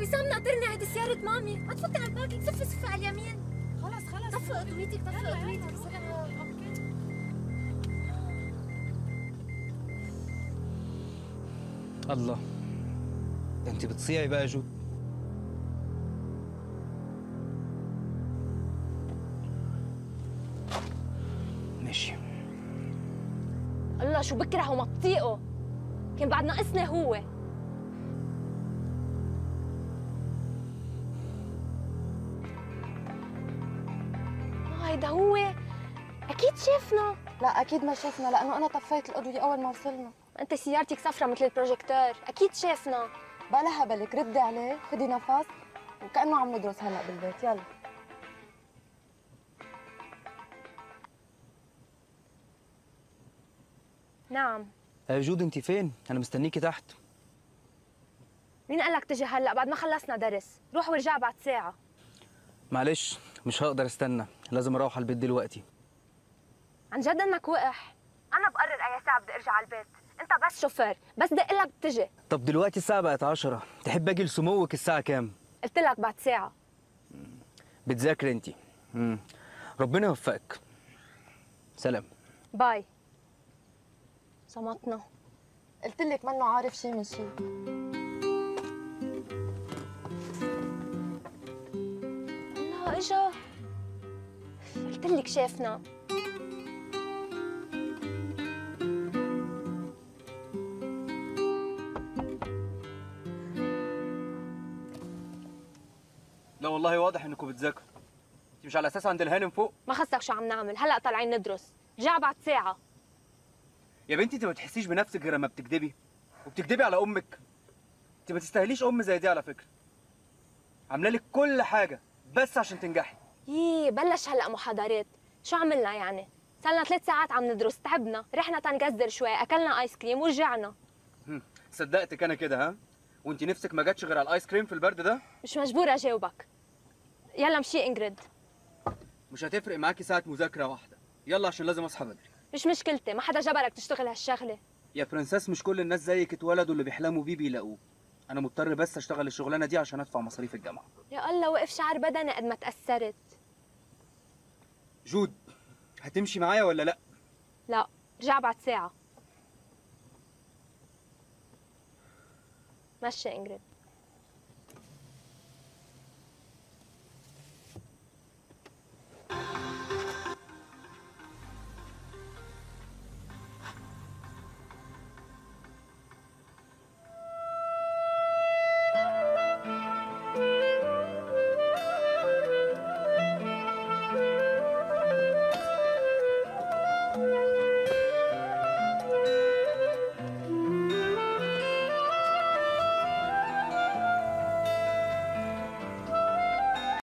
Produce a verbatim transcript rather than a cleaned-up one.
وسام ناطرنا، هيدي سيارة مامي، ما تفوتي على الباقي، صفي صفي على اليمين. خلص خلص طفي اضويتك، طفي اضويتك. الله، ده انت بتصيعي بقى يا جو. ماشي. الله شو بكره وما بطيقه، كان بعد ناقصني هو. هيدا هو اكيد شافنا. لا اكيد ما شفنا، لانه انا طفيت الاضويه اول ما وصلنا. انت سيارتك صفرة مثل البروجيكتور، اكيد شافنا. بلا هبلك، ردي عليه، خدي نفس وكانه عم ندرس هلا بالبيت. يلا. نعم. يا جود انت فين؟ انا مستنيكي تحت. مين قال لك تجي هلا بعد ما خلصنا درس؟ روح وارجع بعد ساعة. معلش مش هقدر استنى، لازم اروح على البيت دلوقتي. عن جد انك وقح؟ انا بقرر اي ساعة بدي ارجع على البيت، انت بس شوفير، بس دق لك بتجي. طب دلوقتي الساعة بقت عشرة، تحب اجي لسموك الساعة كام؟ قلت لك بعد ساعة. بتذاكري انت. امم ربنا يوفقك. سلام. باي. صمتنا. قلت لك منه عارف شيء من شيء. الله اجا. قلت لك شافنا. لا والله واضح انكم بتذاكروا. انت مش على اساس عند الهانم فوق؟ ما خصك شو عم نعمل، هلا طالعين ندرس، رجع بعد ساعة. يا بنتي انت ما بتحسيش بنفسك غير لما بتكدبي، وبتكدبي على امك. انت ما تستاهليش ام زي دي على فكرة. عامله لك كل حاجة بس عشان تنجحي. يي بلش هلا محاضرات، شو عملنا يعني؟ صار لنا ثلاث ساعات عم ندرس، تعبنا، رحنا تنقزر شوي، اكلنا ايس كريم ورجعنا. صدقتك انا كده ها؟ وانت نفسك ما جاتش غير على الايس كريم في البرد ده؟ مش مجبورة اجاوبك. يلا مشي انجريد. مش هتفرق معاكي ساعة مذاكرة واحدة. يلا عشان لازم اصحى بدري. مش مشكلتي، ما حدا جبرك تشتغل هالشغلة. يا برنسس مش كل الناس زيك اتولدوا اللي بيحلموا بيه بيلاقوه. انا مضطر بس اشتغل الشغلانة دي عشان ادفع مصاريف الجامعة. يا الله وقف شعر بدني قد ما تأثرت. جود هتمشي معايا ولا لا؟ لا، رجع بعد ساعة. مشي انجريد.